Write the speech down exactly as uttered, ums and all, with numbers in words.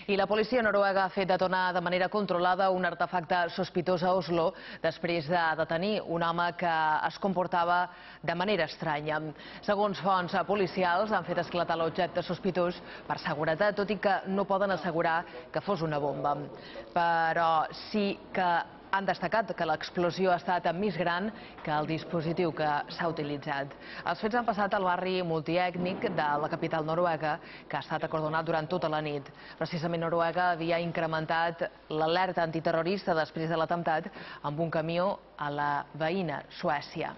I la policia noruega ha fet detonar de manera controlada un artefacte sospitós a Oslo després de detenir un home que es comportava de manera estranya. Segons fonts policials, han fet esclatar l'objecte sospitós per seguretat, tot i que no poden assegurar que fos una bomba. Però sí que han destacat que l'explosió ha estat més gran que el dispositiu que s'ha utilitzat. Els fets han passat al barri multiètnic de la capital noruega, que ha estat acordonat durant tota la nit. Precisament Noruega havia incrementat l'alerta antiterrorista després de l'atemptat amb un camió a la veïna Suècia.